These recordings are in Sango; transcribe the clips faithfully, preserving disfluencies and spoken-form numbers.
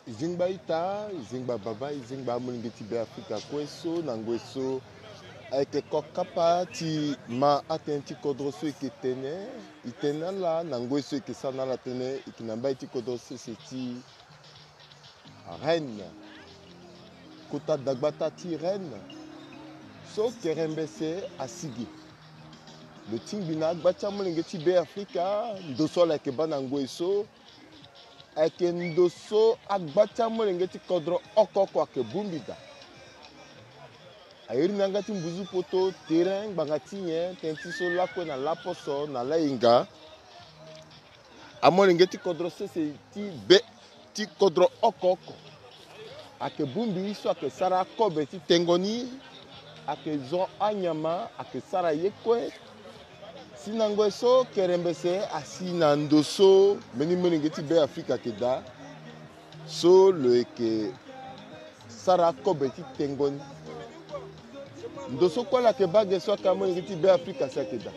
E zingba ita, e zingba baba, e zingba amolenge ti Beafrika kue so na ngoi so. Ayeke kokapa ti ma atënë ti kodro so e yeke tene, e tene na ala na ngoi so e yeke sara na ala tënë, e yeke na mbai ti kodro sese ti Rennes, kota dagbata ti Rennes, so kerembese asi ge. Lo tingbi na agba ti amolenge ti Beafrika, ndo so ala yeke baa na ngoi so, ayeke ndo so agba ti amolenge ti kodro oko oko ayeke bongbi daa. A iri na yanga ti mbuzu poto, terrain ngbanga ti nyen, tënë ti so lakue na laposo na lahinga. Amolenge ti kodro sese ti be ti kodro oko oko ayeke bongbi so ayeke sara akobe ti tengo ni, ayeke zo anyama, ayeke sara ye kue. Si na ngoi so kerembese asi na ndo so mbeni molenge ti Beafrika ayeke daa, so lo yeke sara akobe ti tengo ni. Ndo so kue ala yeke baa ge so ayeke amolenge ti Beafrika si ayeke daa.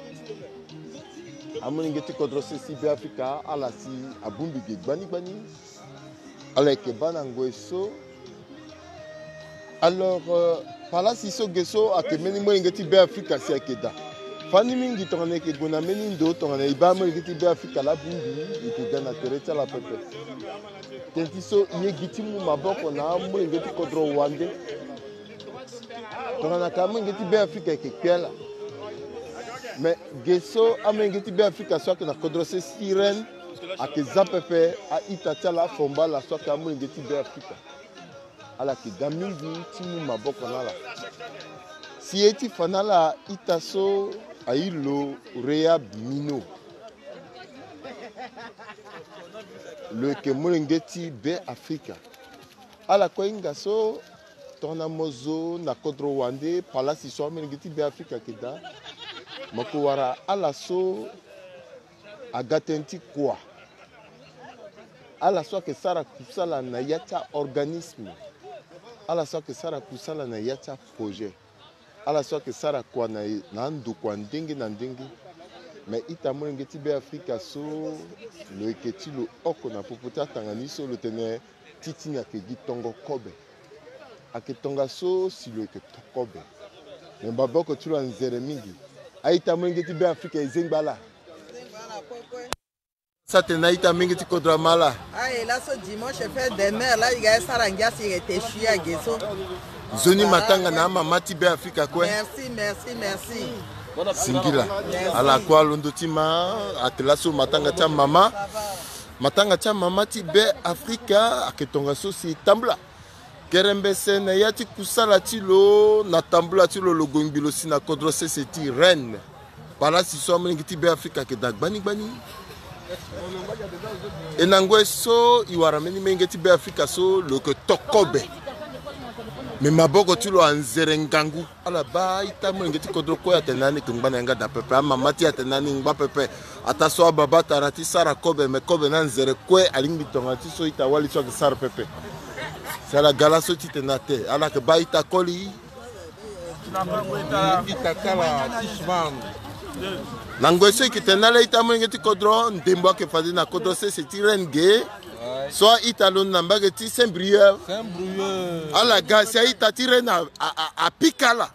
Amolenge ti kodro sese ti Beafrika ala si abongbi ge gbani gbani. Ala yeke baa na ngoi so. Alors, euh, palasi so ge so ayeke mbeni molenge ti Beafrika si ayeke daa. Fani mingi tongana e yeke gue na mbeni ndo tongana e baa amolenge ti Beafrika laa abongbi, e yeke ga na tere ti ala pepe. Tënë ti so e ye gi ti mu maboko na amolenge ti kodro wande. Tongana ka amolenge ti Beafrika e yeke kpe ala. Me ge so amolenge ti Beafrika so ayeke na kodro sese ti Rennes ayeke za pepe a-ita ti ala, afomba ala so ayeke amolenge ti Beafrika. Ala yeke ga mingi ti mu maboko na ala. Si e ye ti fa na ala ita so airi lo Rehab Mino. Lo yeke molenge ti Beafrika. Ala kue hinga so tongana mo zo na kodro wande palasi so amolenge ti Beafrika ayeke daa, mo yeke wara ala so aga tënë ti kua. Ala so ayeke sara kusala na ya ti a-organisme. Ala so ayeke sara kusala na ya ti aprojet. Ala so ayeke sara kua na, na andokua ndenge na ndenge. Me ita molenge ti Beafrika so lo yeke ti lo oko na popo ti atanga ni so lo tene ti tini ayeke gi tongo kobe. Ayeke tongaso si lo yeke to kobe. Me maboko ti lo anzere mingi. A-ita molenge ti Beafrika e zengba ala. Sa tene na ita mingi ti kodro ama ala. Aye, laso dimanche fête des mères, la e ga e sara ngia si e yeke te sui age so. Nzoni matanga na amama ti Beafrika kue. Merci, merci, merci. Singila. Merci. Ala kue alondo ti ma, ate laso matanga ti amama. Matanga ti amama ti Beafrika ayeke tongaso si e tambula. Kerembese na ya ti kusala ti lo, na tambula ti lo, lo gongbi lo si na kodro sese ti Rennes. Palasi so amolenge ti Beafrika ayeke daa gbani gbani. E na ngoi so e wara mbeni molenge ti Beafrika so lo yeke to kobe. Me maboko ti lo anzere ngangu. Ala baa ita molenge ti kodro kue atene na ni e yeke ngba na yanga daa pepe. Amama ti e atene na ni e ngba pepe. Ataa so ababa atara ti sara kobe, me kobe ni anzere kue alingbi tongana ti so ita wali so ayeke sara pepe. Si ala ga laso ti tene na te, ala yeke baa ita koli. Ita ti ala ti Shimane. Na ngoi so e yeke tene na ala ita molenge ti kodro, ndembo ayeke fade na kodro sese ti Rennes ge. So a-ita londo na mbage ti Saint-Brieuc. Saint-Brieuc. Ala ga si a-ita ti Rennes a, a, a, apika ala.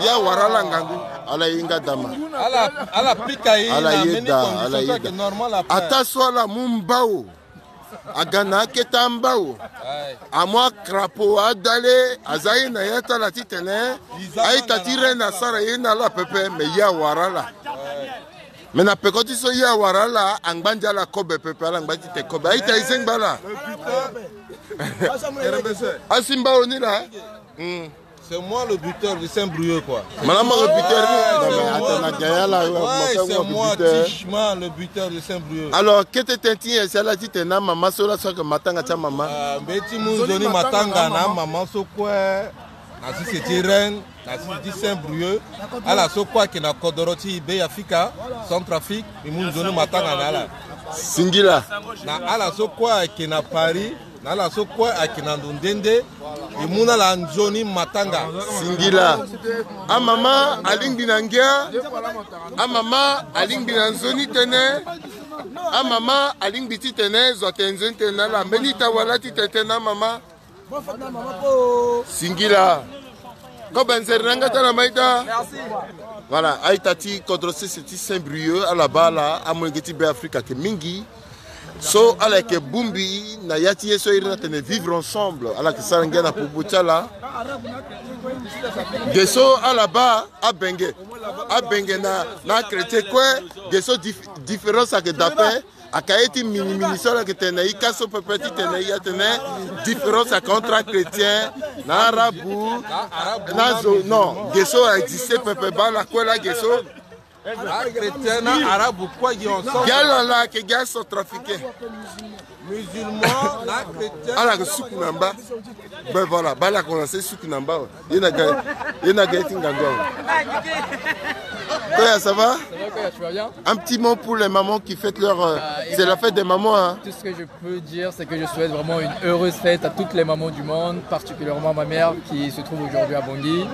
Ye awara ala ngangu. Ala ye nga dama. Ala, ala pika ye. Ala ye daa, ala ye daa. Ataa so ala mu mbao. Aga na akete ambao. Amu akrapo adale, aza ye na ya ti ala titene a-ita ti Rennes asara ye na ala pepe, me ye awara ala. Me na peko ti so ye awara ala, angba ndia ala kobe pepe, ala ngba ti te kobe. A-ita e zengba ala. Asi mbao ni laa. Hmm. C'est moi le buteur de Saint-Brieuc, quoi. Mala mo buteur ni. Non, mais attends, na gaya la. Ouais, c'est moi, Tichman, le buteur de Saint-Brieuc. Alors, kete tënë ti nyen si ala titene na mama so laso ayeke matanga ti amama? Ah, mbi ye ti mu nzoni matanga na amama so kue na sese ti Rennes, na sese ti Saint-Brieuc. Ala so kue ayeke na kodoro ti Beafrika, Centrafrique, mbi mu nzoni matanga na ala. Singila. Na ala so kue ayeke na Paris, na ala so kue ayeke na ndo nde nde, e mu na ala nzoni matanga. Singila. Amama alingbi na ngia. Amama alingbi na nzoni tënë. Amama alingbi titene zo atene nzoni tene na ala. Mbeni ita wala ti tene tene na amama. Singila. Kobe nzere na nga ti ala ma ita. Voilà, a-ita ti kodro sese ti Saint-Brieuc, ala baa ala amolenge ti Beafrika ayeke mingi. So ala yeke bongbi na ya ti ye so a iri ni atene vivre ensemble, ala yeke sara ngia na popo ti ala. Ge so ala baa abenge, abenge na, na achrétien kue. Ge so dif-, différence ayeke daa ape. Ayeke ye ti minimini so ala yeke tene na ika so pepe titene e ya atene différence ayeke entre achrétien na arabu. Na zo, non, ge so a existe pepe, baa ala kue laa ge so. Achrétien na arabu kue gi ensemble. Gi ala laa ayeke gi acentrafricain. Musulman na chrétien. Ala yeke suku na mba. Ben voilà, baa ala yeke commencé suku na mba awe. Ye na ga, ye na ga ye ti ngangu awe. Koya, ça va? Ça va, Koya, tu vas bien? Un petit mot pour les mamans qui fêtent leur, euh, Ah, c'est la fête des mamans, hein. Tout ce que je peux dire, c'est que je souhaite vraiment une heureuse fête à toutes les mamans du monde, particulièrement ma mère qui se trouve aujourd'hui à Bangui.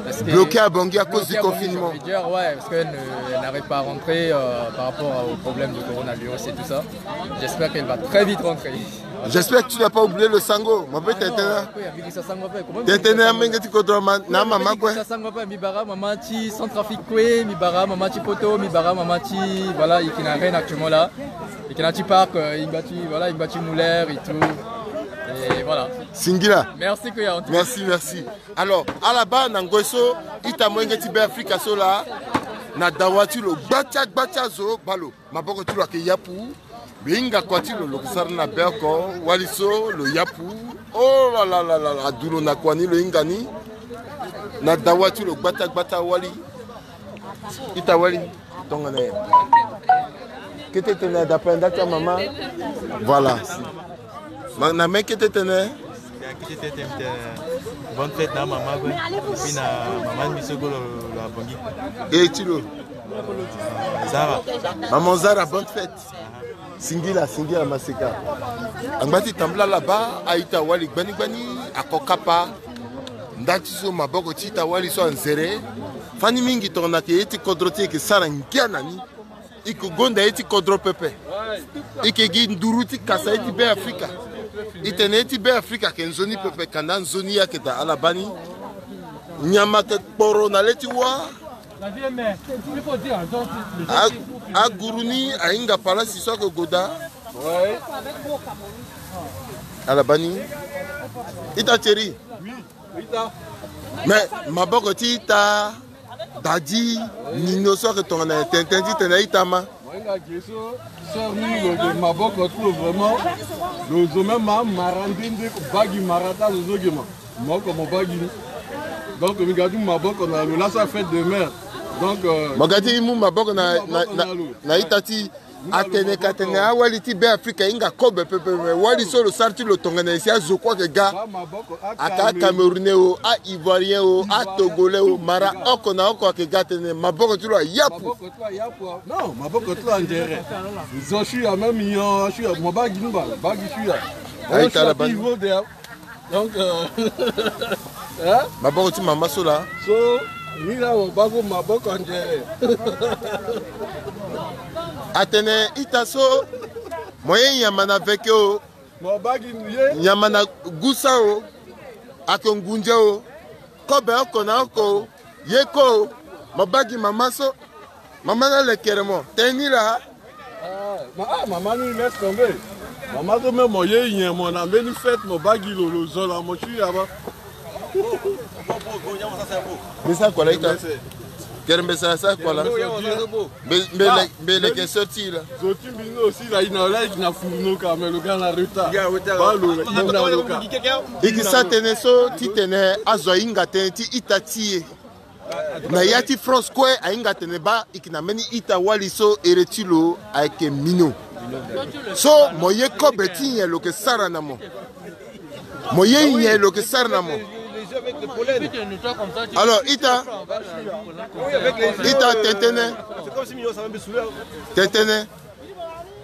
Parce que Bloquée à Bangui à cause du confinement. Bloquée à Bangui, j'ai envie de dire, ouais, parce qu'elle ne, elle n'arrive pas à rentrer, euh, par rapport au problème de coronavirus et tout ça. J'espère qu'elle va très vite rentrer. J'espère que tu n'as pas oublié le sango. Mo pe tene tene. Tene tene, amolenge ti kodro ma na mama kue. Sango pe, mi bara mama ti Centrafrique kue, mi bara mama ti Poto, mi bara mama ti, voilà, e yeke na Rennes actuellement là. E yeke na ti parc, euh, e ngba ti, voilà, e ngba ti muller et tout. Et voilà. Singila. Merci Koya, en tout cas. Merci, merci. Alors, ala baa na ngoi so ita molenge ti Beafrika so laa, na dawa ti lo gbatia gbatia zo baa lo. Maboko ti lo ayeke yapu. Lo hinga kua ti lo, lo yeke sara na be oko wali so lo yapu. Oh là là là là, a du lo na kua ni lo hinga ni. Na dawa ti lo gbata gbata wali. Ita wali. Tongana nyen? Kete tene dape nda ti amama. Voilà. Ma na me kete tene. Ya, kete tene, tene, bonne fête na mama kue. Et puis na mama ni so kue lo, lo abongi. E ti lo. Zara. Maman Zara, bonne fête. Singila, singila maseka. Angba ti tambula laba, a-ita wali gbani gbani, ako kapa. Nda ti so maboko ti ita wali so anzere. Fani mingi tongana ke ye ti kodro ti e ke sara ngia na ni. E ke gonda ye ti kodro pepe. E ke gi nduru ti kasa ye ti Beafrika. E tene ye ti Beafrika ayeke nzoni pepe, kanda nzoni ye ayeke daa ala baa ni. Nyama ayeke kporo na le ti wâ. A, aguru ni ahinga palasi so ayeke gue daa. Ala baa ni. Ita Thierry. Mais maboko ti ita Dadi Nino so ayeke tongana nyen? Tene tene titene ita ma. Mo hinga ge so sœur ni lo ge maboko ti lo vraiment. Lo zo même ma mara nde nde, baa gi mara ti azo so ge ma. Mo oko mo baa gi ni. Donc mi ga ti mu maboko na lo laa so a fête de mère. Donc, euh, mo ga ti mu maboko na, na, na, na ita ti Atene ka tene awali ti Beafrika ahinga kobe pepe, me wali so lo sara ti lo tongana nyen si azo kue ayeke ga. Aka aCamerounais o, aIvoirien o, aTogolais o, mara oko na oko ayeke ga atene maboko ti lo ayapu. Maboko ti lo ayapu. Non, maboko ti lo anzere. Zo shuya même nyon shuya, mo baa gi ni baa, baa gi shuya. Aye tala baa ni. Donc, euh, hein? Maboko ti mama so laa. So ni laa mo baa gue maboko anzere. Atene ita so, mo ye nyama na veke o. Mo baa gi ye. Nyama na gusa o. Ake ngunze o. Kobe oko na oko o. Ye ko o. Mo baa gi mama so. Mama na lekere mo tënë ni laa. Ah, ma, ah, mama ni laisse tomber. Mama so même mo ye nyen mo na mbeni fête mo baa gi lo, lo zo na mo shuya baa. Mbi sara kua laa ita. Kere mbi sara sara kua laa. Mbi, mbi le, mbi leke sorti laa. Zo ti mbi ni aussi laa, e na, laa e na fourneau ka, mais lo ga na retard. Baa lo, lo na lo ka. E ke sara tënë so titene azo ahinga tënë ti ita ti e. Na ya ti France kue ahinga atene baa e yeke na mbeni ita wali so here ti lo ayeke mino. So mo ye kobe ti nyen lo yeke sara na mo? Mo ye nyen lo yeke sara na mo? Alors ita, ita tënë tënë. Tënë tënë.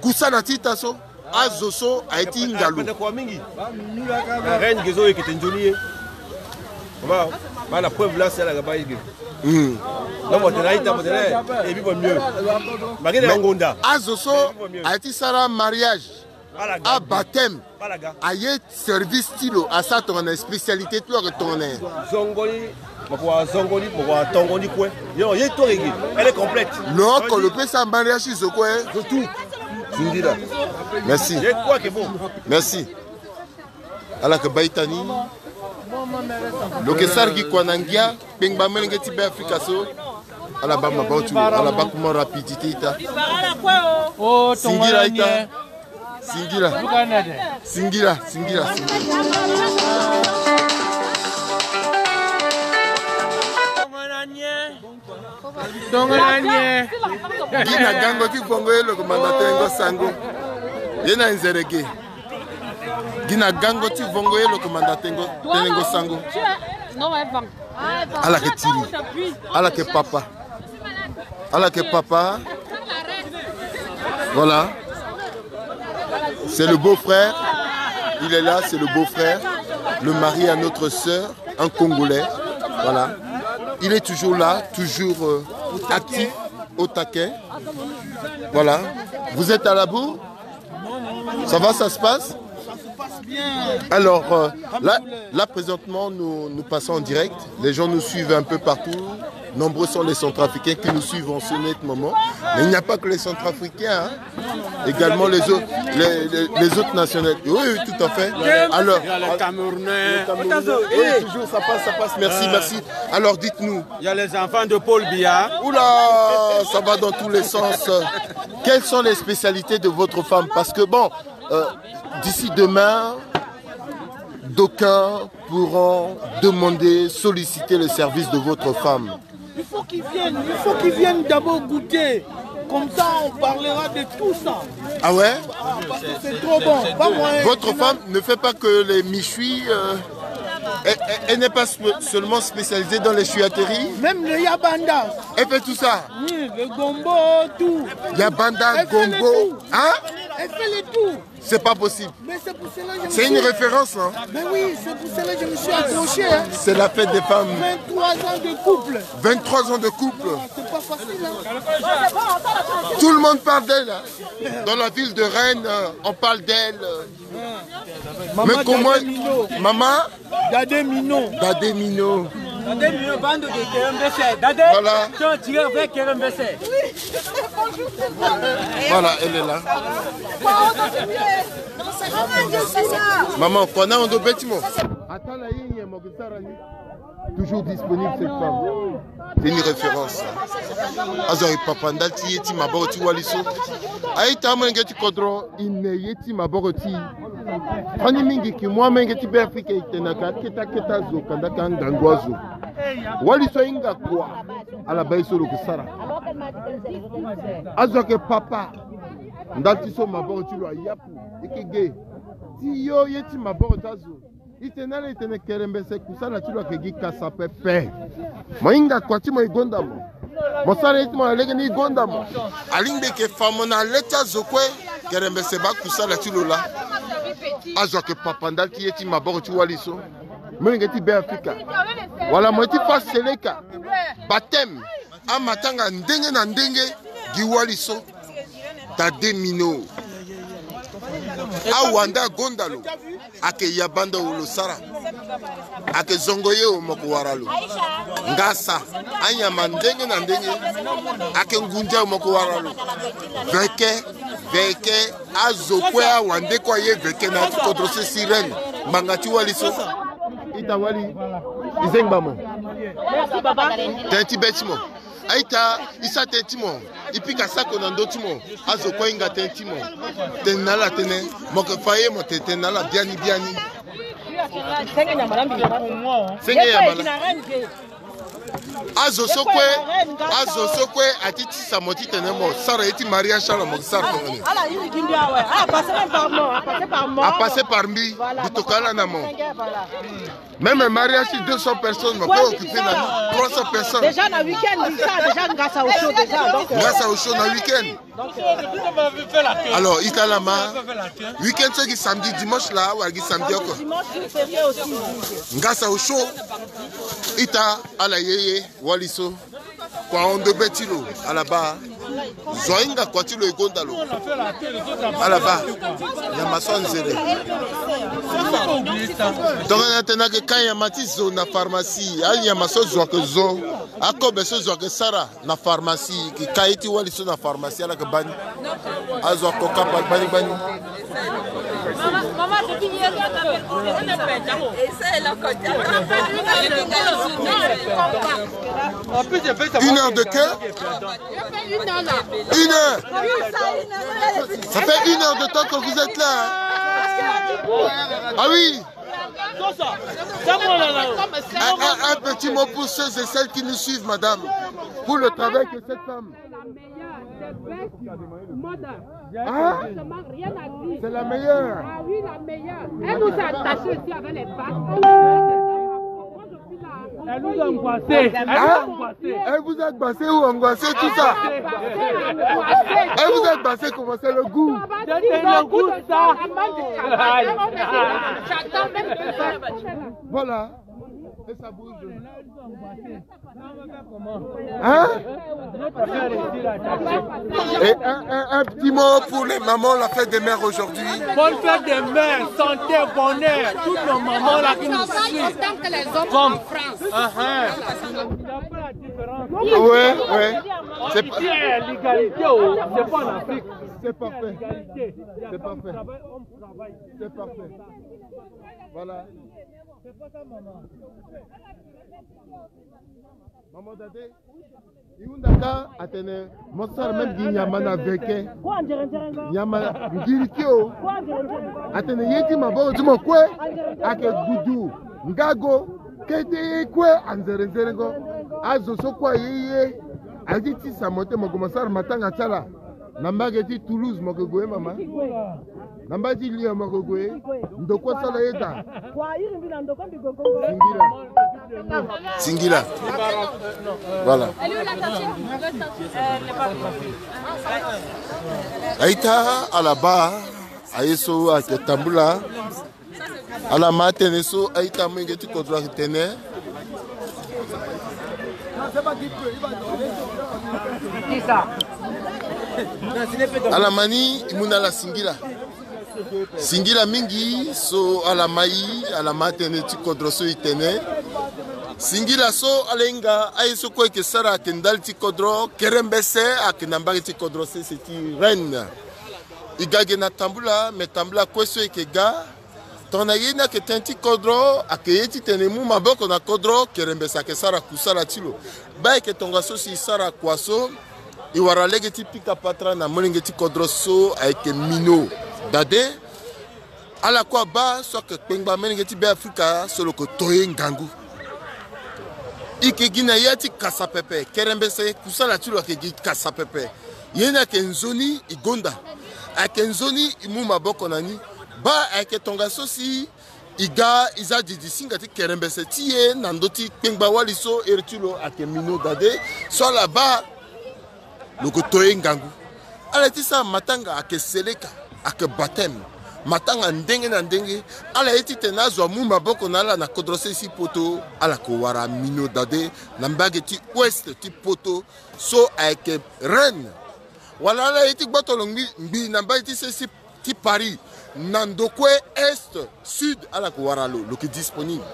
Kusala ti ita so. Azo so aye ti hinga lo. Pendeko mingi. Na Rennes ge so e yeke tene nzoni ye. Baa, baa la preuve laa si ala ga baa ye ge. Hmm. Donc, bon, t'es là, il t'a, bon, t'es là, et puis, bon, mieux. Malgré les ngonda. Azo so, a ti sara mariage. Balaga. A baptême. Balaga. Aye service ti lo, asara tongana spécialité ti lo ayeke tongana. Zongoli, moko wa zongoli, moko wa tongoli kue. Yo, ye to rege. Elle est complète. Lo oko lo pe sara mariage ti zo kue. Zo tout. Singila. Merci. Ye kue ke bon. Merci. Ala yeke baa ita ni. Lo yeke sara gi kua na ngia, kpengba molenge ti Beafrika so. Ala baa maboko ti lo, ala baa kuma rapidité ita. Singila ita. Singila. Singila, singila, singila. Tongana nyen? Gi na gango ti vongo ye lo yeke manda tenengo sango. Ye na nzere ge. Gi na gango ti vongo ye lo yeke manda tengo, tenengo sango. Ala yeke tiri. Ala yeke papa. Ala yeke papa. Voilà. C'est le beau-frère. Il est là, c'est le beau-frère. Le mari à notre sœur, un Congolais. Voilà. Il est toujours là, toujours, euh, actif, au taquet. Voilà. Vous êtes à la bourre ? Ça va, ça se passe ? Alors, euh, là, là, présentement, nous, nous passons en direct. Les gens nous suivent un peu partout. Nombreux sont les Centrafricains qui nous suivent en ce net moment. Mais il n'y a pas que les Centrafricains, hein. Également les autres, les, les, les autres nationalités. Oui, oui, tout à fait. Alors, il y a les Camerounais. Les Camerounais. Oui, toujours, ça passe, ça passe. Merci, merci. Alors, dites-nous. Il y a les enfants de Paul Biya. Oula, ça va dans tous les sens. Quelles sont les spécialités de votre femme ? Parce que bon, euh, d'ici demain, d'aucuns pourront demander, solliciter le service de votre femme. Il faut qu'ils viennent, il faut qu'ils viennent d'abord goûter. Comme ça, on parlera de tout ça. Ah ouais ? Ah, parce que c'est trop bon. Pas moyen. Votre femme ne fait pas que les méchouis, euh, elle, elle, elle n'est pas spe-, seulement spécialisée dans les chouiateries. Même le yabanda. Elle fait tout ça. Oui, le gombo, tout. Yabanda, gombo. Hein ? Elle fait le tout. C'est pas possible. Mais c'est pour cela que je me suis... C'est une référence, hein ? Mais oui, c'est pour cela que je me suis accroché, hein. C'est la fête des femmes. Vingt-trois ans de couple. Vingt-trois ans de couple. C'est pas facile, hein. Tout le monde parle d'elle, hein. Dans la ville de Rennes, euh, on parle d'elle, euh. Mais comment... Maman, Dade Mino. Dade Mino. Dade Mino, bando de Kerembese. Dade, voilà. Tu as tiré avec Kerembese. Voilà, elle est là. Maman, kua na ndo beti mo. Attends, là, il y a mon... Toujours disponible, cette femme. C'est une référence. Azo aye papa ndali ti ye ti maboko ti wali so. Aita, molenge ti kodro, e ne ye ti maboko ti. Fani mingi ki mwa molenge ti Beafrika e tene ayeke akete akete azo, kanda ka ngangu azo. Wali so ahinga kua, ala baa ye so lo yeke sara. Azo ayeke papa ndali ti so maboko ti lo ayapu. E yeke ge ti yo ye ti maboko ti azo. E tene na ala e tene Kerembese kusala ti lo ayeke gi kasa pepe. Mo hinga kua ti mo e gonda mo. Mo sara ye ti mo na lege ni e gonda mo. Alingbi e yeke fa mo na le ti azo kue. Kerembese baa kusala ti lo laa. Azo ayeke papa ndali ti ye ti maboko ti wali so. Molenge ti Beafrika. Wala mo ye ti fa seleka. Baptême. Amatanga ndenge na ndenge gi wali so. Dade Mino. Awanda agonda lo. Ayeke yabanda o lo sara. Ayeke zongo ye o mo yeke wara lo. Ngasa. Anyama ndenge na ndenge. Ayeke ngunza o mo yeke wara lo. Veke, veke, azo kue awande kue aye veke na ya ti kodro so sirène. Ngbanga ti wali so. Ita wali. E zengba mo. Tënë ti be ti mo. Aita, e sara tënë ti mo. E pika sako na ndö ti mo. Azo kue ahinga tënë ti mo. Tene na ala tënë. Mo yeke fa ye mo tene tënë na ala biani biani. Senge ya mala. Azo so kue, azo so kue ati tisa mo titene mo sara ye ti mariage ti ala mo yeke sara tongana nyen? A passe par mbi, mbi tokua ala na mo. Même un mariage ti deux cents personnes, mo peut occuper na trois cents personnes. Déjà na week-end, ça, déjà, ngasa au chaud, déjà, donc, euh, ngasa au chaud na week-end. Donc, euh, alors, ita lama, week-end so gi samedi, dimanche la, wala gi samedi oko. Samedi, dimanche, férié aussi. Ngasa au chaud, ita ala yeye, wali so. Kua hon ndobe ti lo, ala baa. Zo ahinga kua ti lo e gonda lo. Ala baa. Nyama so anzere. Tongana atene ayeke ka nyama ti zo na pharmacie, anyama so zo ayeke zo, akobe so zo ayeke sara na pharmacie, e ke ka ye ti wali so na pharmacie, ala yeke baa ni. Azo ako kapa gbani gbani. Une heure de queue? Une heure. Ça fait une heure de temps que vous êtes là, hein? Ah oui. Un, un- un petit mot pour ceux et celles qui nous suivent, madame, pour le travail que cette femme. Hein? Franchement, rien à dire. C'est la meilleure. Ah oui, la meilleure. Elle nous a attachés ici avec les bacs. Moi, je suis là. Elle nous a angoissés. Hein? Elle vous a angoissé ou angoissé, tout ça? Angoissés, angoissés. Elle vous a angoissé, comment c'est le goût? On va dire le goût de ça. J'attends même plus ça. Voilà. Et ça bouge. Hein? Et un, un- un petit mot pour les mamans, la fête des mères aujourd'hui. Bonne fête des mères, santé, bonheur. Toutes nos mamans là qui nous suivent. Autant que les hommes en France. Ah, hein. Il n'y a pas la différence. Ouais, ouais. C'est pas... Ici, il y a l'égalité, oh, c'est pas en Afrique. C'est parfait. L'égalité. Il y a... C'est parfait. Femme travaille, homme travaille. C'est parfait. Voilà. C'est pas ça, maman. Maman Dade, i hunda ka atene mo sara même gi nyama na veke. Nyama ngiri kio. Atene ye ti maboko ti mo kue ayeke gudu, ngago, kete ye kue anzerenzerengo. Azo so kue aye ye aye ti tisa mo te mo gue mo sara matanga ti ala. Na mbage ti Toulouse mo ke gue mama. Na mbage ti Lyon mo ke gue. Ndokua sala ye daa. Singila. Singila. Voilà. Aita ala baa aye so ayeke tambula. Ala ma tënë so aita molenge ti kodro ayeke tene. Ala ma ni e mu na ala singila. Singila mingi so ala ma e, ala ma tënë ti kodro so e tene. Singila so ala hinga aye so kue e yeke sara ayeke ndali ti kodro, kerembese ayeke na mbage ti kodro sese ti reine. E ga ge na tambula, me tambula kue so e yeke ga. Tongana ye ni ayeke tënë ti kodro, ayeke ye titene e mu maboko na kodro, kerembese ayeke sara kusala ti lo. Baa e yeke tongaso si e sara kua so, e wara lege ti pika patara na molenge ti kodro so ayeke Mino Dade. Ala kue abaa so ayeke kpengba molenge ti Beafrika so lo yeke to ye ngangu. E yeke gi na ya ti kasa pepe, kerembese kusala ti lo ayeke gi kasa pepe. Ye ni ayeke nzoni e gonda. Ayeke nzoni e mu maboko na ni. Baa ayeke tongaso si e ga e za didi singa ti kerembese ti e na ndö ti kpengba wali so iri ti lo ayeke Mino Dade. So ala baa lo yeke to ye ngangu. Ala ye ti sara matanga ayeke seleka, ayeke baptême. Matanga ndenge na ndenge. Ala ye titene azo amu maboko na ala na kodro sese ti poto, ala yeke wara Mino Dade na mbage ti ouest ti poto so ayeke reine. Wala ala ye ti gboto lo ngbii, ngbii na mbage ti sese ti Paris, na ndo kue est, sud, ala yeke wara lo, lo yeke disponible.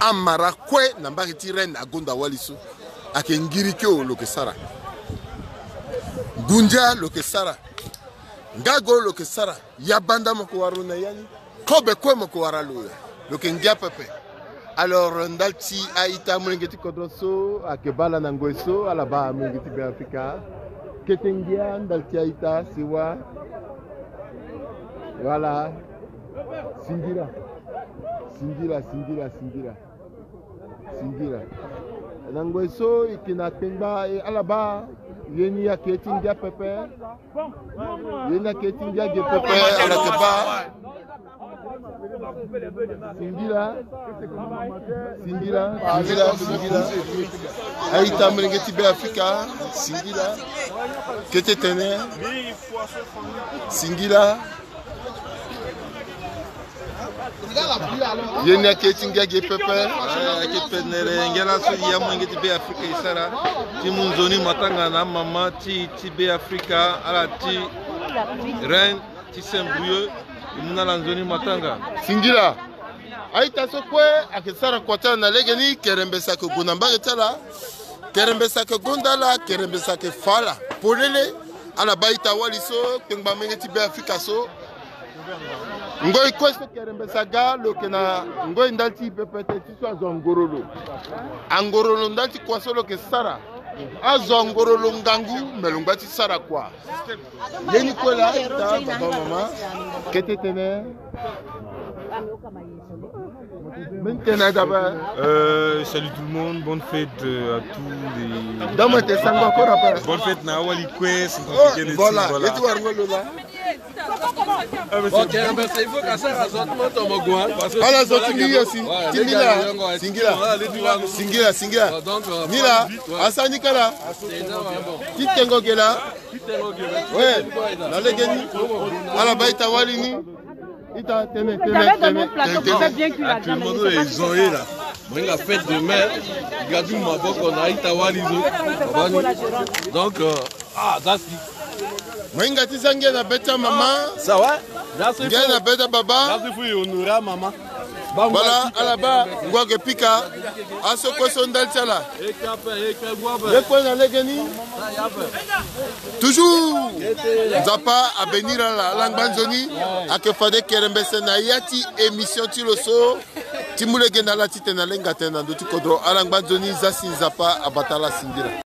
Amara kue na mbage ti reine agonda wali so. Ayeke ngiri kio lo yeke sara. Ngundia lo yeke sara. Ngago lo yeke sara. Yabanda mo yeke wara lo na ya ni. Kobe kue mo yeke wara lo, lo yeke ngia pepe. Alors, ndali ti a-ita molenge ti kodro so ayeke baa ala na ngoi so, ala baa molenge ti Beafrika. Kete ngia ndali ti a-ita sewa. Voilà. Singila. Singila, singila, singila. Singila. Na ngoi so e yeke na kpengba, e ala baa ye ni ayeke ye ti ngia pepe. Ye ni ayeke ye ti ngia ge pepe, ala yeke baa. Singila. Singila, singila, singila. A-ita molenge ti Beafrika, singila. Kete tene. Singila. Ye ni ayeke ti ngia ge pepe. Eh, ayeke penere ngia laso ya molenge ti Be Afrika e sara. Ti mu nzoni matanga na amama ti, ti Be Afrika, ala ti reine ti Saint-Brieuc, e mu na ala nzoni matanga. Singila. A-ita so kue ayeke sara kua ti ala na lege ni, kerembese ayeke gue na mbage ti ala. Kerembese ayeke gonda ala, kerembese ayeke fa ala polele. Ala baa a-ita wali so kpengba molenge ti Be Afrika so. Ngoi kue so kerembese aga, lo yeke na ngoi ndali ti e pepe teti so azo angorolo. Angorolo ndali ti kua so lo yeke sara. Azo angorolo ngangu, me lo ngba ti sara kua. Ye ni kue laa, a-ita, baba, mama. Kete tene. Mbeni tene d'abord. Euh, salut tout le monde, bonne fête, euh, à tous les. Bonne fête na awali kue. Oh, voilà. Ye ti wara ngoi lo laa. Bon, kerembese, il faut que ça soit ton goût, hein, parce que ala zo ti mbi aussi. Ti mbi laa. Singila. Singila, singila. Bon, donc, euh, ni laa, ouais. Asara ni kâ laa. Ti tengo ge laa. Ouais, na lege ni. Ala baa a-ita wali ni. A-ita, tene, tene, tene, tene. Actuellement, nous les gens là. Moninga fête de mère. Gadi maboko na a-ita wali zo. Donc, euh, ah, that's it. Moninga ti za ngia na be ti amama. Ça va? Ngia na be ti ababa. Merci pour honorer maman. Voilà, ala baa ngoi ayeke pika. Aso kue so ndali ti ala. Ye kue na lege ni. Toujours Nzapa abénir ala, ala ngba nzoni. Ayeke fade kerembese na ya ti émission ti lo so. Ti mu lege na ala titene alenga tënë na ndö ti kodro. Ala ngba nzoni, za si Nzapa abata ala singila.